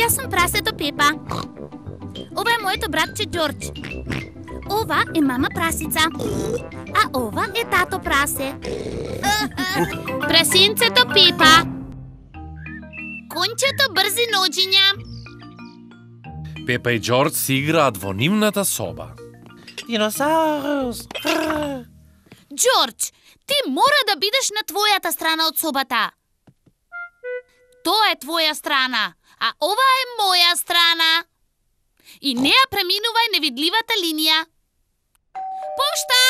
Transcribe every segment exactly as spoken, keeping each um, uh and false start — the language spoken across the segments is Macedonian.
Јас сум прасето Пепа. Ова е моето братче Џорџ. Ова е мама прасица. А ова е тато прасе. Прасенцето Пепа. Кончето брзи ноđиња. Пепа и Џорџ си играат во нивната соба. Диносаурус. Џорџ, ти мора да бидеш на твојата страна од собата. Тоа е твоја страна, а ова е моја страна. И неа преминувај невидливата линија. Пошта!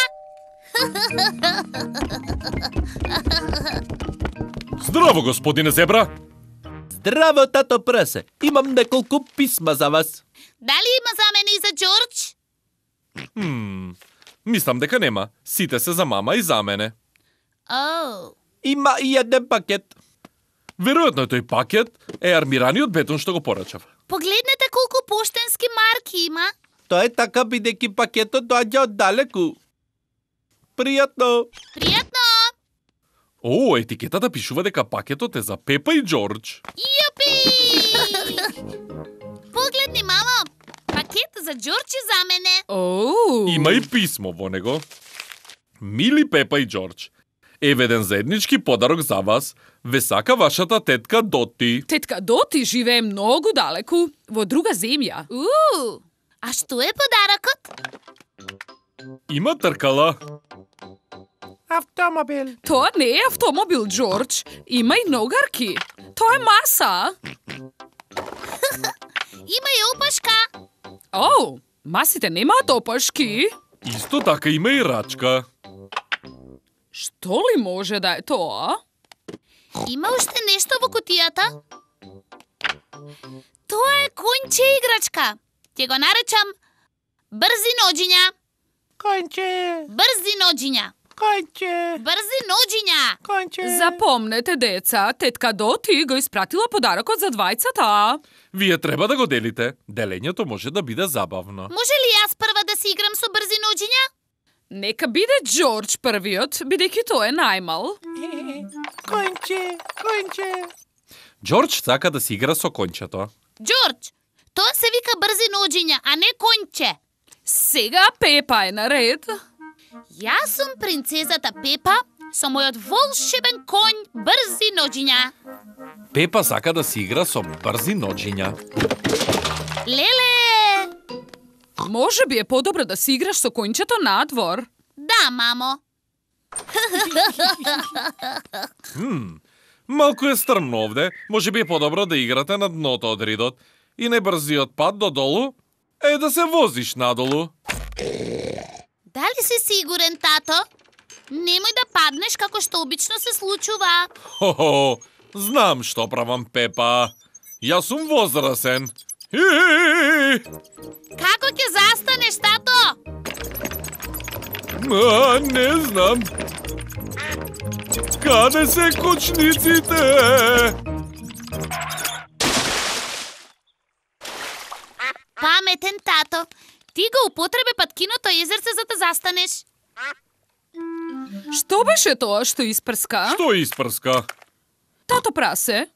Здраво, господине Зебра! Здраво, тато прасе. Имам неколку писма за вас. Дали има за мене и за Џорџ? Хм, мислам дека нема. Сите се за мама и за мене. Оу. Има и еден пакет. Веројатно тој пакет е армираниот бетон што го порачав. Погледнете колку поштенски марки има. Тоа е така бидејќи пакетот доаѓа од далеку. Пријатно. Пријатно! О, етикетата пишува дека пакетот е за Пепа и Џорџ. Јупи! Погледни, мамо. Пакет за Џорџ и за мене. Оу. Има и писмо во него. Мили Пепа и Џорџ, еве еден заеднички подарок за вас. Ве сака вашата тетка Доти. Тетка Доти живее многу далеку, во друга земја. Уу! А што е подарокот? Има тркала. Автомобил. Тоа не е автомобил, Џорџ. Има и ногарки. Тоа е маса. Има и опашка. Оу, масите немаат опашки. Исто така има и рачка. Што ли може да е тоа? Има уште нешто во кутијата? Тоа е конче играчка. Ќе го наречам брзи ноđиња. Конче. Брзи ноđиња. Конче. Брзи ноđиња. Конче. Запомнете, деца, тетка Доти го испратила подарокот за двајцата. Вие треба да го делите. Делењето може да биде забавно. Може ли јас прва да си играм со брзи ноđиња? Нека биде Џорџ првиот, бидејќи тој е најмал. Конче. Конче. Џорџ сака да си игра со кончето. Џорџ, тоа се вика брзи ноđиња, а не конче. Сега Пепа е наред. Јас сум принцезата Пепа со мојот волшебен конј брзи ноđиња. Пепа сака да си игра со брзи ноđиња. Леле! Може би е подобро да си играш со кончето надвор. Да, мамо. Хм, малку е стрмно овде. Може би е подобро да играте на дното од ридот. И најбрзиот пат додолу е да се возиш надолу. Дали си сигурен, тато? Немој да паднеш како што обично се случува. Хо-хо, знам што правам, Пепа. Јас сум возрасен. Хи-хи-хи. Како ќе застанеш, тато? А, не знам. Каде се кочниците? Паметен, тато. Ти го употребе паткиното езерце за да застанеш. Што беше тоа што испрска? Што испрска? Тато прасе,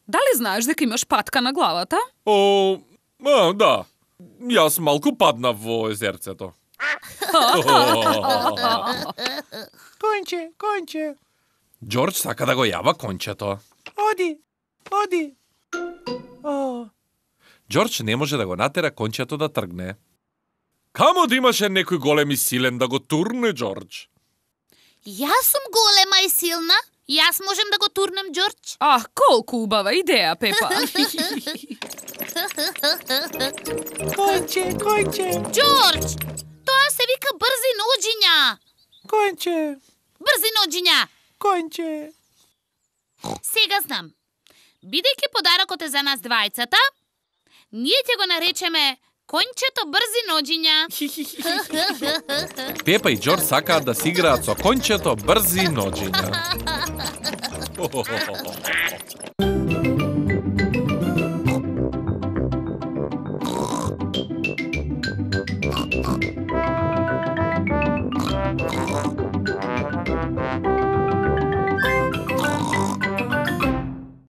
дали знаеш дека имаш патка на главата? О, а, да. Јас малку паднав во езерцето. Конче. Конче. Џорџ сака да го јава кончето. Оди. Оди. О. Џорџ не може да го натера кончето да тргне. Камо да имаше некој голем и силен да го турне, Џорџ? Јас сум голема и силна. Јас можем да го турнем, Џорџ. Ах, колку убава идеја, Пепа. Конче. Конче. Џорџ, тоа се вика брзи ноđиња. Конче. Брзи ноđиња. Конче. Сега знам. Бидејќи подарокот е за нас двајцата, ние ќе го наречеме кончето брзи ноđиња. Пепа и Џорџ сакаат да си играат со кончето брзи ноđиња.